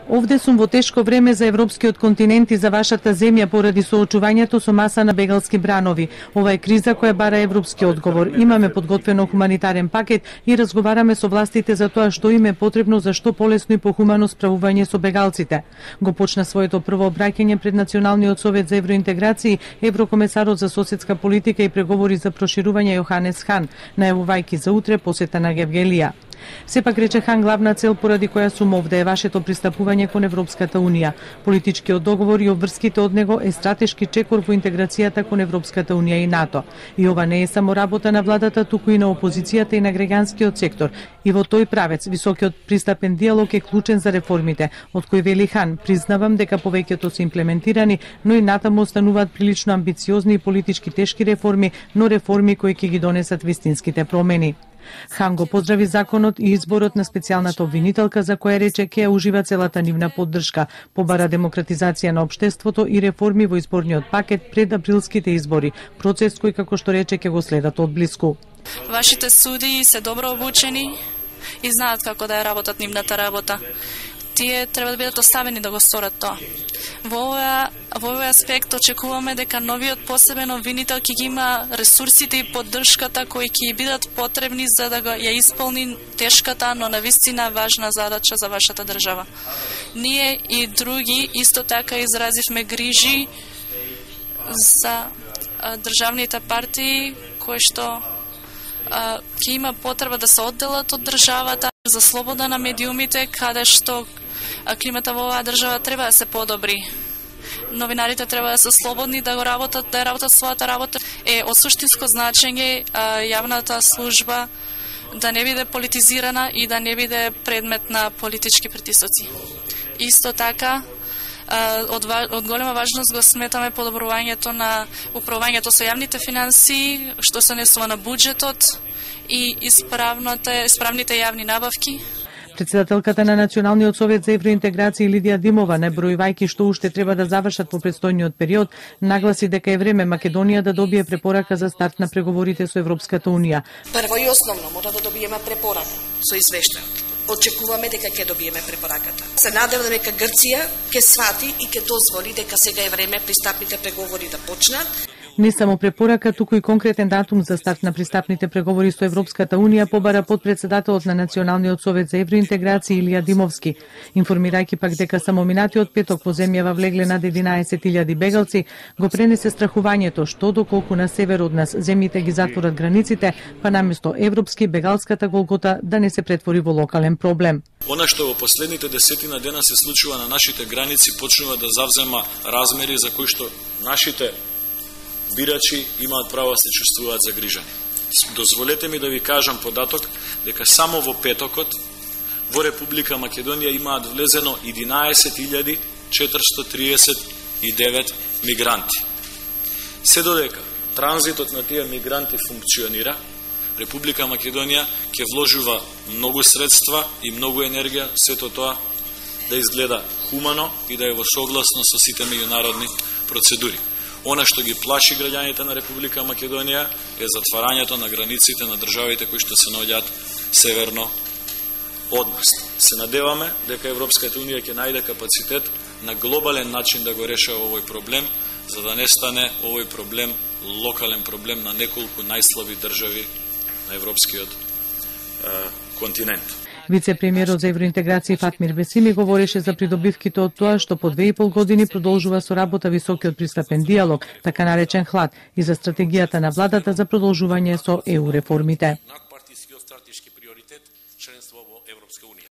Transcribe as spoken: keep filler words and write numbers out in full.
Овде сум во тешко време за европскиот континент и за вашата земја поради соочувањето со маса на бегалски бранови. Ова е криза која бара европски одговор. Имаме подготвено хуманитарен пакет и разговараме со властите за тоа што им е потребно за што полесно и похумано справување со бегалците. Го почна своето прво обраќање пред Националниот совет за евроинтеграција еврокомесарот за соседска политика и преговори за проширување Јоханес Хан, најавувајќи за утре посета на Гевгелија. Сепак, рече Хан, главна цел поради која сум овде е вашето пристапување кон Европската Унија. Политичкиот договор и обврските од него е стратешки чекор во интеграцијата кон Европската Унија и НАТО. И ова не е само работа на владата, туку и на опозицијата и на граѓанскиот сектор. И во тој правец, високиот пристапен диалог е клучен за реформите, од кој вели Хан, признавам дека повеќето се имплементирани, но и натаму остануваат прилично амбициозни и политички тешки реформи, но реформи кои ќе ги донесат вистинските промени. Хан го поздрави законот и изборот на специјалната обвинителка, за која рече ќе ужива целата нивна поддршка, побара демократизација на општеството и реформи во изборниот пакет пред априлските избори, процес кој, како што рече, ќе го следат одблиску. Вашите судии се добро обучени и знаат како да ја работат нивната работа. Тие треба да бидат оставени да го сторат тоа. Во овој, во овој аспект очекуваме дека новиот посебен обвинител ќе ги има ресурсите и поддршката кои ќе бидат потребни за да ја исполни тешката, но навистина важна задача за вашата држава. Ние и други исто така изразивме грижи за државните партии кои што ќе има потреба да се одделат од државата, за слобода на медиумите, каде што климата во оваа држава треба да се подобри. Новинарите треба да се слободни да го работат, да работат својата работа. Е од суштинско значење јавната служба да не биде политизирана и да не биде предмет на политички притисоци. Исто така, од, од голема важност го сметаме подобрувањето на управувањето со јавните финансии, што се однесува на буџетот и исправните, исправните јавни набавки. Председателката на Националниот совет за евроинтеграција Лидија Димова, набројувајќи што уште треба да завршат во предстојниот период, нагласи дека е време Македонија да добие препорака за старт на преговорите со Европската Унија. Прво и основно мора да добиеме препорака со извештајот. Очекуваме дека ќе добиеме препораката. Се надевам дека Грција ќе свати и ќе дозволи дека сега е време пристапните преговори да почнат. Не само препорака, туку и конкретен датум за старт на пристапните преговори со Европската Унија побара подпредседателот на Националниот совет за евроинтеграција Илија Димовски, информирајќи пак дека само минатиот петок во земјава влегле над единаесет илјади бегалци, го пренесе страхувањето што доколку на север од нас земјите ги затворат границите, па наместо европски бегалската голгота да не се претвори во локален проблем. Она што во последните десетина дена се случува на нашите граници почнува да завзема размери за кои што нашите бирачи имаат право да се чувствуваат загрижани. Дозволете ми да ви кажам податок дека само во петокот во Република Македонија имаат влезено единаесет илјади четиристотини триесет и девет мигранти. Се додека транзитот на тие мигранти функционира, Република Македонија ќе вложува многу средства и многу енергија сето тоа да изгледа хумано и да е во согласно со сите меѓународни процедури. Она што ги плаши граѓаните на Република Македонија е затварањето на границите на државите кои што се наоѓаат северно од нас. Се надеваме дека Европската Унија ќе најде капацитет на глобален начин да го решава овој проблем, за да не стане овој проблем локален проблем на неколку најслаби држави на европскиот е, континент. Вице-премиерот за евроинтеграција Фатмир Бесими говореше за придобивките од тоа што по две и пол години продолжува со работа високиот пристапен диалог, така наречен ХЛАД, и за стратегијата на владата за продолжување со ЕУ реформите.